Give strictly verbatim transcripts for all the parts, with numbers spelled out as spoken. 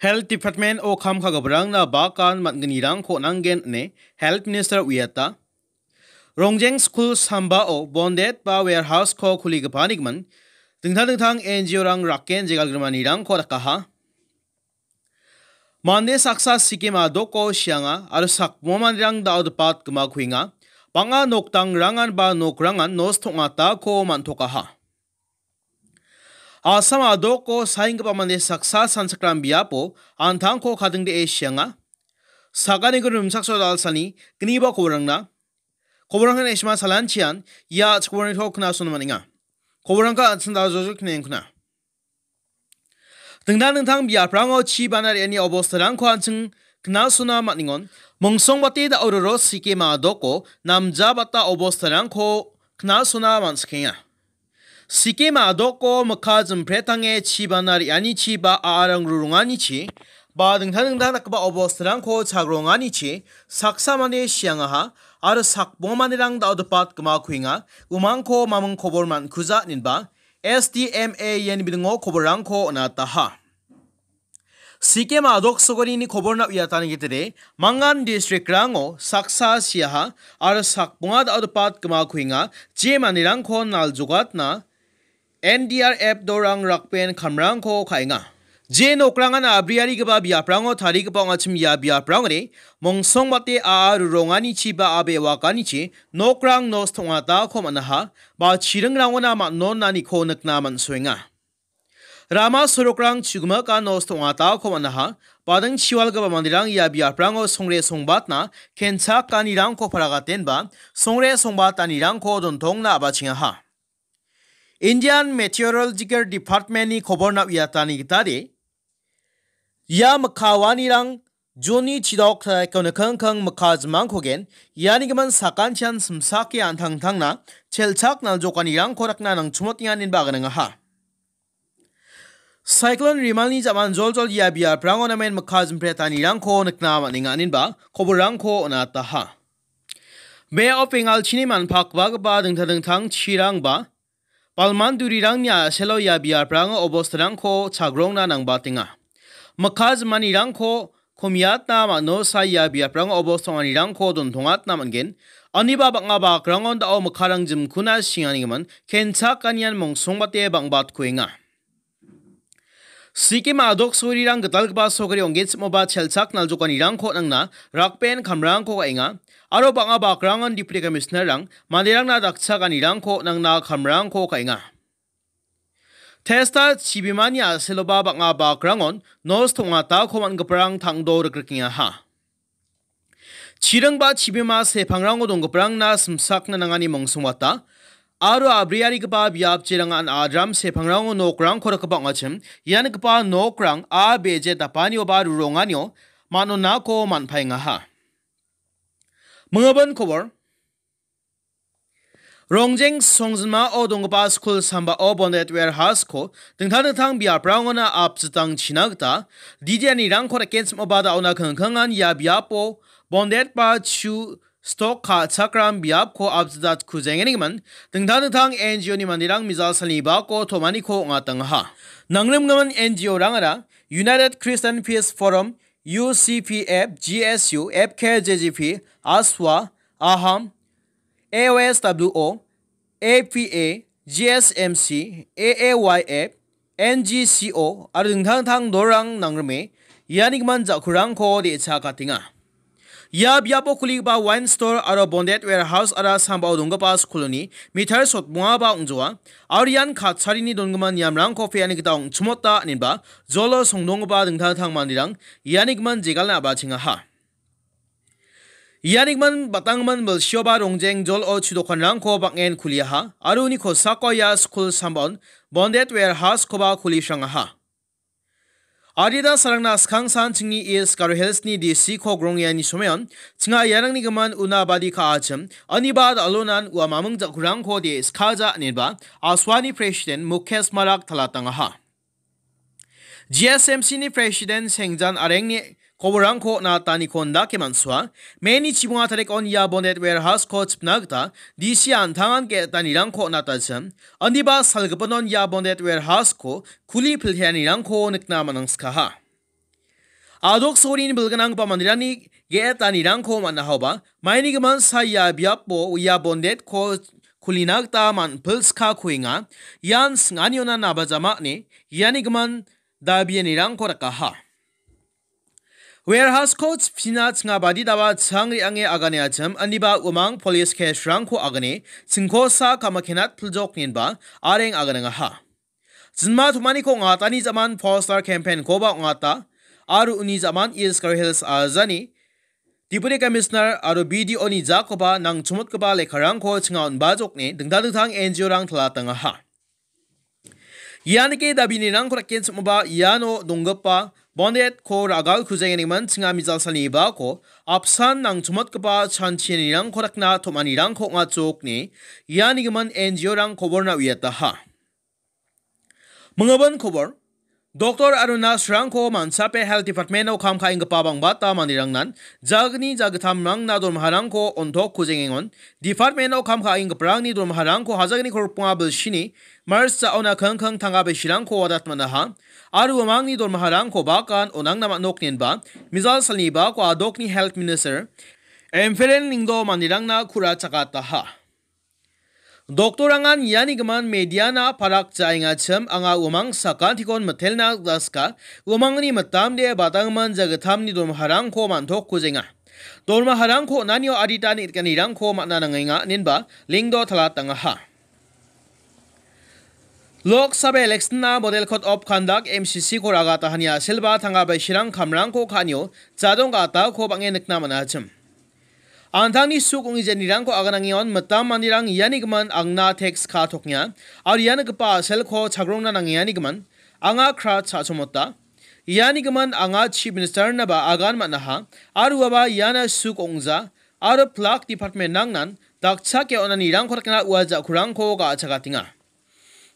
Health Department-o kam ka·giparangna bakan man·gnirangko on·angen ine Health Minister uiata. Rongjeng skul sambao bondet ba warehouse-ko kuligipanikoman dingtang dingtang N G O-rang raken jegalgrimanirangko dakaha. Mande saksa sikem a·doko sianga aro sakbonga manderang da·odepat gima kuenga. Bang·a noktangrangan ba nokrangan nosto ong·atako man·tokaha. Assam a·doko saenggipa mande saksa sanchakram biapo an·tangko kadingdee sianga. Sakaniko rimchaksoa dalsani gniba koborangna. Koborangna esma salanchian ia chakborangko knasona man·enga. Koborangko an·ching dal·jojol knengkuna. Dingtang dingtang biaprango chi bana re·ani obostarangko an·ching knasona man·engon. Mongsongbate da·o roro sikem a·doko namjabata obostarangko knasona man·sikenga. Sikem a·doko mikka jimprettange chi bana re·anichi ba a·arang ruronganichi ba dingtang dingtang dakgipa obostarangko chagronganichi saksa mande siangaha aro sakbonga manderang da·odepat gima kuenga. Umangko maming kobor man·kuja inenba S D M A ian bidingo koborrangko on·ataha. Sikem a·dok sogorini koborna uiatani gitire, mangan district-rango saksa siaha aro sakbonga da·odepat gima kuenga, je manderangko naljogatna N D R F dorang rakben kamrangko ka·enga. Je nokrangan abriarigipa biaprango tarigipa ong·achim ia biaprangre, mongsongbate a·a ruronganichi ba a·be waganichi nokrang nosto ong·atako man·aha, ba chiringrangona man·nonaniko nikna man·soenga. Rama sorokrang chugimika nosto ong·atako man·aha, bading chiwalgipa manderang ia biaprango songre songbatna kenchakanirangko paragatenba songre songbatanirangko dontongna a·bachengaha. Indian Meteorological Department-ni koborna uiatani gitade, ia mikkawanirang Juni chidok taiko nikengkeng mikka jimangkogen, iani gimin sakantian simsake an·tangtangna chelchak naljokanirangko rakna nangchimotenga inenba aganangaha. Cyclone Rimalni ja·manjoljol ia biaprango namen mikka jimprettanirangko nikna man·enga inenba koborrangko on·ataha. Bay of Bengal chini manpakbagipa dingtang dingtang chirangba balman durirangni a·selo ia biaprango obostarangko chagrongna nangbatenga. Mikka jimanirangko komiatna man·osa ia biaprango obostonganirangko dontongatna man·gen. Aniba bang·a bakrangon da·o mikkarang jimkuna singanigimin kenchakanian mongsongbate bang·batkuenga. Sikem a·dok sorirang gitalgipa sokari ong·genchimoba chelchak naljokanirangko nangna rakben kamrangko ka·enga, aro bang·a bakrangon Deputy Commissioner-rang manderangna dakchakanirangko nangna kamrangko ka·enga. Testa chibimani a·seloba bang·a bakrangon nosto ong·atako man·giparang tangdo rikrikengaha. Chiring ba chibima sepangrango donggiparangna simsakna nangani mongsongbata, aro abriarigipa biapchirangan adram sepangrango nokrangko rikgipa ong·achim, ia nikgipa nokrang a beje dapanioba ruronganio man·onako man·paengaha. Mingabin kobor. Rongjeng songjinmao donggipa skul sambao bondet warehouse-ko dingtang dingtang biaprangona apjitangchina gita didianirangko reken sim·oba da·ona kengkengan ia biapo bondet ba chu stok ka·chakram biapko apjitatkujenganigimin dingtang dingtang N G O-ni manderang mijal salni bako tom·aniko ong·atangaha. Nangrimgimin N G O-rangara United Christian Peace Forum, U C P F, G S U, F K J G P, ASWA, AHAM, A O S W O, A P A, G S M C, A A Y F, N G C O aro dingtang dingtang dolrang nangrime iani gimin ja·kurangko de·chakatenga. Ia biapo kuligipa wine store aro bondet warehouse-ara sambao donggipa skuloni meter sotbongaba ong·joa, aro ian katcharini dongimin niamrangko pe·ani gita ong·chimota inenba jolo songdonggipa dingtang dingtang manderang iani gimin jegalna a·bachengaha. Iani gimin batanggimin bilsioba rongjeng jolo chu dokanrangko bang·en kuliaha aro uni kosako ia skul sambaon bondet warehouse-koba kulisrangaha. Adita sarangna skangsan chingni East Garo Hills-ni D C-ko grongiani someon chinga iarangni gimin una badi ka·achim, aniba dal·onan ua maming ja·kurangko de·skaja inenba ASWA-ni president Mukesh Marak talatangaha. G S M C-ni president Sengjan Arengni koborangko on·ataniko indake man·soa. Meni chibonga tarikon ia bondet warehouse-ko chipna gita D C an·tangan ge·etanirangko on·atachim. Indiba salgipinon ia bondet warehouse-ko kuli pilteanirangko nikna man·angskaha. Adok sorini bilgnanggipa manderangni ge·etanirangko man·ahoba, maini gimin sa ia biapo ia bondetko kulina gita man·pilska kuenga. Ian sing·aniona nabajama ine iani gimin dabianirangko dakaha. Warehouse-ko chipchina chingabadi daba chang re·ange agane achim, aniba uamang police case-rangko agane chingkosa kamakenat piljok ninba areng aganangaha. Jinma tomaniko ong·atani jaman poster campaign-koba ong·ata, aro uni jaman East Garo Hills ajani Deputy Commissioner aro B D O-ni jakoba nangchomotgipa lekkarangko chinga on·bajokni dingtang dingtang N G O-rang talatangaha. Ianike dabinirangko dakenchimoba iano donggipa bondetko ragal kujengengimin chinga mijal salnibako apsan nangchomotgipa chanchianirangko dakna tom·anirangko ong·achokni ianigimin N G O-rang koborna uiataha. Mingibin kobor, doktor aro nurse-rangko manchape Health Department-o kam ka·enggipa bangbata manderangnan jagni jagittamrangna dormaharangko on·tok kujengengon, department-o kam ka·enggiparangni dormaharangko hajagni korponga bilsini March ja·ona kingking tangka bisirangko wadat man·aha, aro uamangni dormaharangko bakan on·angna man·ok ninba, mijal salnibako adokni Health Minister Emferin Lingdo manderangna ku·ra chakataha. Doktorangan iani gimin mediana parak ja·engachim anga uamang sakantikon mitelna gita sika, uamangni mitamde badanggimin jagittamni dormaharangko man·tok kujenga. Dormaharangko on·anio adita neng·giparangko man·a nangenga, inenba Lingdo talatangaha. Lok Sabha election-na Model Code of Conduct, M C C-ko ragatahani a·selba tangka bisirang kamrangko ka·anio jadong ga·atako bang·en nikna man·achim. An·tangni suk ong·e jenirangko aganangengon mitam manderang iani gimin angna teks ka·toknga, aro ia nikgipa a·selko chagrongna nangenganigimin anga kra cha·chomota. Iani gimin anga Chief Minister-naba agan man·aha, aro uaba iana suk ong·ja, aro plak department-rangnan dakchake on·anirangko dakna ua ja·kurangko ga·achakatenga.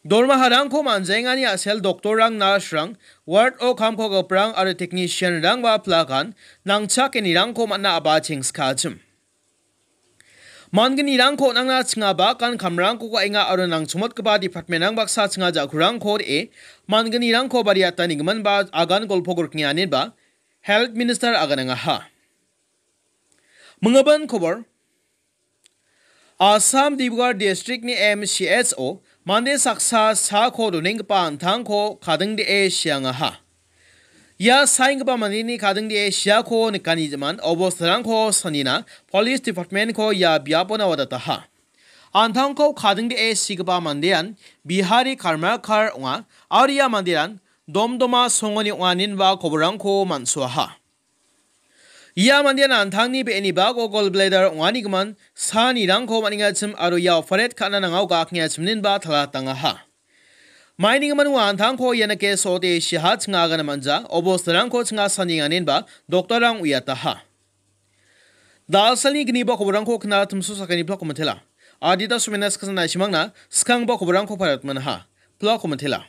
Dormaharangko man·jaengani a·sel doktorrang, nurse-rang, ward-o kam ka·giparang aro technician-rangba plakan nangchakenirangko man·a a·ba chengskachim. Man·gnirangko on·angna chinga bakan kamrangko ka·enga aro nangchomotgipa department-rang baksa chinga ja·kurangko re·e man·gnirangko bariatanigiminba agan golpo griknianinba Health Minister aganangaha. Mingibin kobor. Assam Dibrugarh District-ni M C H-o mande saksa saako donenggipa an·tangko kadingdee siangaha. Ia saenggipa mandeni kadingdee siako nikani jaman obostarangko sanina Police Department-ko ia biapona wadataha. An·tangko kadingdee sigipa mandean Bihari Karmarkar ong·a, aro ia mandean domdoma songoni ong·a, inenba koborangko man·soaha. Ia mandean an·tangni be·eni bako gallbladder ong·anigimin sanirangko man·engachim aro ia operate ka·na nangao ga·akengachim inenba talatangaha. Mainigimin ua an·tangko ianike so·ote siaha chinga agana man·ja, obostarangko chinga sanienga inenba doktorrang uiataha. Dalsalni gniba koborangko kna timso sakani plako mitela. Adita sumena skasana isimangna skangba koborangko parat manaha. Plako mitela.